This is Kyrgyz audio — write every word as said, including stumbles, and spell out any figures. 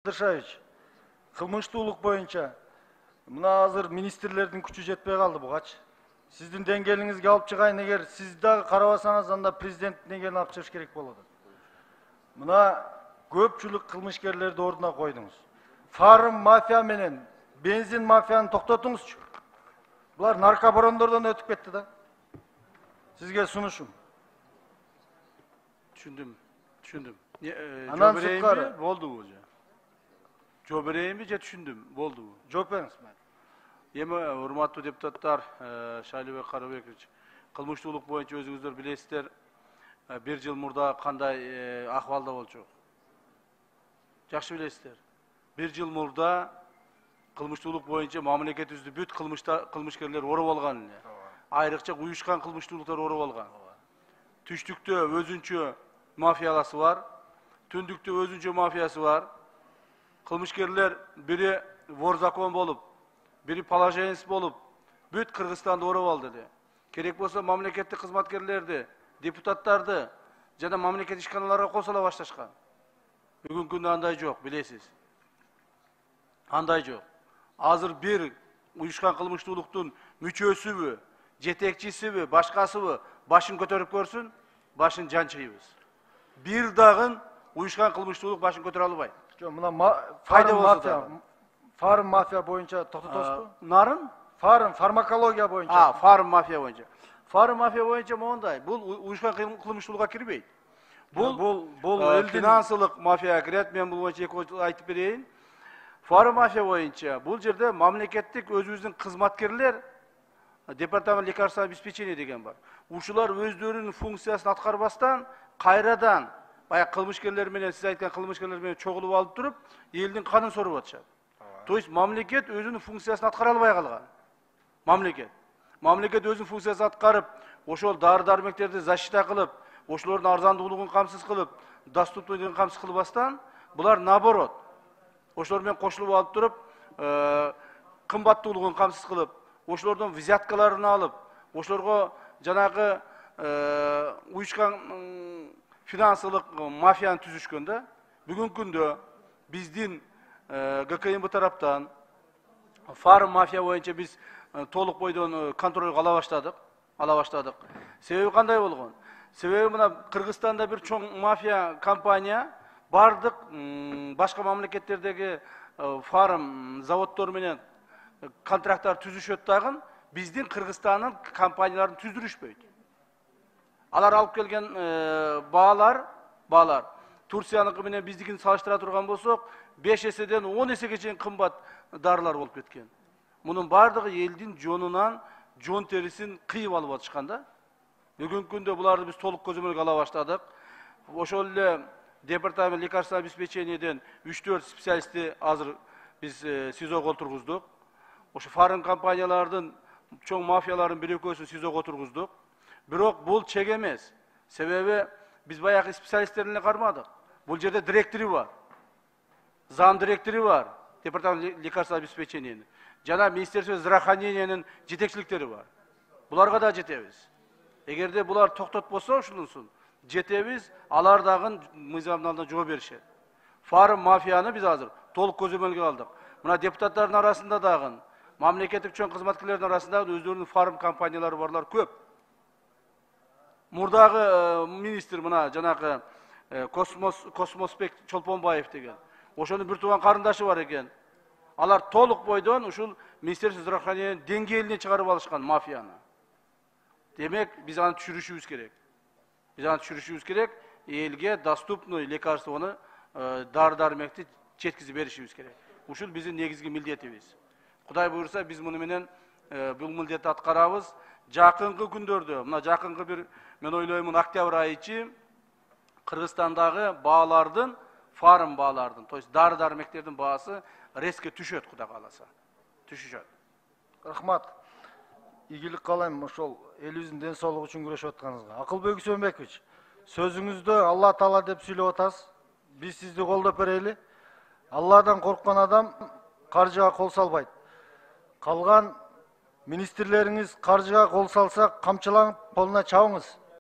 Кыдыршаевич, кылмыштуулук боюнча мына азыр министрлердин күчү жетпей калды бугачы. Сиздин деңгээлиңизге алып чыгайын, эгер сиз дагы карабасаңыз, анда президенттин деңгээлине алып чыгыш керек болот. Мына көпчүлүк кылмышкерлерди ордуна койдуңуз. Фарм мафия менен бензин мафияны токтотуңузчу. Булар наркобарондордон өтүп кетти да. Сизге сунушум. Түшүндүм, түшүндүм. Анан сырткары болдубу же? Жооп берейинби же түшүндүм, болдубу? Жооп бериңиз. Эми урматтуу депутаттар, Шайлыбек Карабекович, кылмыштуулук боюнча өзүңүздөр билесиздер, бир жыл мурда кандай акыбалда болчу? Жакшы билесиздер. Бир жыл мурда кылмыштуулук боюнча мамлекетибизди бүт кылмышкерлер ороп алган эле. Айрыкча уюшкан кылмыштуулуктар ороп алган. Түштүктө өзүнчө мафияласы бар, түндүктө өзүнчө мафиясы бар. Кылмышкерлер бири вор закон болуп, бири положенец болуп, бүт Кыргызстанды ороп алды эле. Керек болсо мамлекеттик кызматкерлерди, депутаттарды жана мамлекет ишканаларга косула башташкан. Бүгүнкү күндө андай жок, билесиз. Андай жок. Азыр бир уюшкан кылмыштуулуктун мүчөсүбү, жетекчисиби, башкасыбы башын көтөрүп көрсүн, башын жанчыйбыз. Бир дагы уюшкан кылмыштуулук башын көтөрө албайт. Жок, мына фарм мафия, фарм мафия боюнча токтотосузбу? Нарын? Фарм, фармакология боюнча. А, фарм мафия боюнча. Фарм мафия боюнча моундай, бул уюшкан кылмыштуулукка кирбейт. Бул бул бул финансылык мафияга кирет. Мен бул боюнча эки айтып берейин. Фарм мафия боюнча бул жерде мамлекеттик өзүбүздүн кызматкерлер, департамент лекарственного обеспечения деген бар. Ушулар өздөрүнүн функциясын аткарбастан кайрадан баягы кылмышкерлер менен, сиз айткан кылмышкерлер менен чогулуп алып туруп, элдин канын соруп атышат. То есть мамлекет өзүнүн функциясын аткара албай калган. Мамлекет. Мамлекет өзүнүн функциясын аткарып, ошол дары-дармектерди защита кылып, ошолордун арзандуулугун камсыз кылып, доступнуулугун камсыз кылбастан, булар наоборот. Ошолор менен кошулуп алып туруп, кымбаттуулугун камсыз кылып, ошолордон взяткаларын алып, ошолорго жанагы уюшкан финансылык мафияны түзүшкөн да. Бүгүнкү күндө биздин ГКМБ тараптан фарм мафия боюнча биз толук бойдон контролго ала баштадык, ала баштадык. Себеби кандай болгон? Себеби мына Кыргызстанда бир чоң мафия компания бардык башка мамлекеттердеги фарм заводдор менен контракттар түзүшөт дагы, биздин Кыргызстандын компанияларын түздүрүшпөйт. Алар алып келген баалар, баалар Турцияныкы менен биздикин салыштыра турган болсок, беш эседен он эсеге чейин кымбат дарылар болуп кеткен. Мунун бардыгы элдин жонунан жон терисин кыйып алып атышкан да. Бүгүнкү күндө буларды биз толук көзөмөлгө ала баштадык. Ошол эле департамент лекарственного обеспечениеден үч төрт специалистти азыр биз СИЗОго отургуздук. Ошо фарм компаниялардын чоң мафияларын бир экөөсүн СИЗОго отургуздук. Бирок бул чек эмес. Себеби биз баягы специалисттерин эле кармадык. Бул жерде директору бар. Зам директору бар. Департамент лекарственного обеспечения. Жана Министерство здравоохранениянын жетекчиликтери бар. Буларга да жетебиз. Эгерде булар токтотпосо ушунусун жетебиз, алар дагы мыйзамдын алдында жооп беришет. Фарм мафияны биз азыр толук көзөмөлгө алдык. Мына депутаттардын арасында дагы, мамлекеттик чоң кызматкерлердин арасында өздөрүнүн фарм компаниялары барлар көп. Мурдагы министр мына жанагы Космос Космоспек Чолпонбаев деген. Ошонун бир тууган карындашы бар экен. Алар толук бойдон ушул Министерство здравоохранения деңгээлине чыгарып алышкан мафияны. Демек, биз аны түшүрүшүбүз керек. Биз аны түшүрүшүбүз керек, элге доступный лекарствону, дары-дармекти жеткизип беришибиз керек. Ушул биздин негизги милдетибиз. Кудай буйрса, биз муну менен бул милдетти аткарабыз. Жакынкы күндөрдө, мына жакынкы бир, мен ойлоймун, октябрь айы ичи Кыргызстандагы баалардын, фарм баалардын, то есть дары-дармектердин баасы резко түшөт, Кудай кааласа. Түшүшөт. Рахмат. Ийгилик каалайм ошол элибиздин ден соолугу үчүн күрөшүп атканыңызга. Акылбек Үсөнбекович, сөзүңүздө Алла Таала деп сүйлөп атасыз. Биз сизди колдоп берели. Алладан корккон адам каржыга кол салбайт. Калган министрлериңиз каржыга кол салса, камчыланып колуна чабыңыз.